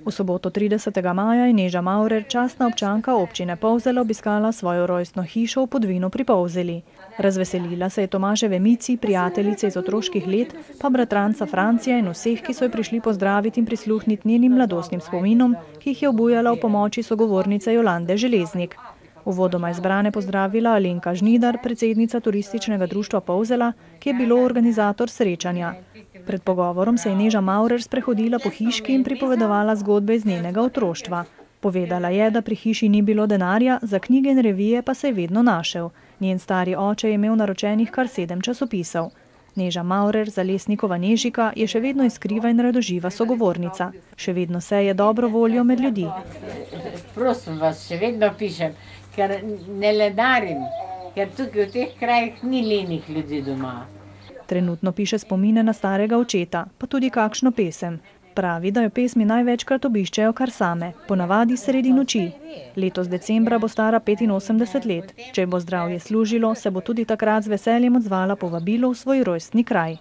V soboto 30. maja je Neža Maurer, častna občanka občine Polzela, obiskala svojo rojstno hišo v Podvinu pri Polzeli. Razveselila se je Tomaževe Mici, prijateljice iz otroških let, pa bratranca Francija in vseh, ki so jo prišli pozdraviti in prisluhniti njenim mladostnim spominom, ki jih je obujala v pomoči sogovornice Jolande Železnik. Uvodoma izbrane pozdravila Alenka Žnidar, predsednica turističnega društva Polzela, ki je bilo organizator srečanja. Pred pogovorom se je Neža Maurer sprehodila po hiški in pripovedovala zgodbe iz njenega otroštva. Povedala je, da pri hiši ni bilo denarja, za knjige in revije pa se je vedno našel. Njen stari oče je imel naročenih kar 7 časopisov. Neža Maurer, Zalesnikova Nežika, je še vedno iskriva in radoživa sogovornica. Še vedno seje dobro voljo med ljudi. Prosim vas, še vedno pišem, ker ne ledarim, ker tukaj v teh krajih ni lenih ljudi doma. Trenutno piše spomine na starega očeta, pa tudi kakšno pesem. Pravi, da jo pesmi največkrat obiščejo kar same, ponavadi sredi noči. Letos decembra bo stara 85 let. Če bo zdravje služilo, se bo tudi takrat z veseljem odzvala povabilu v svoj rojstni kraj.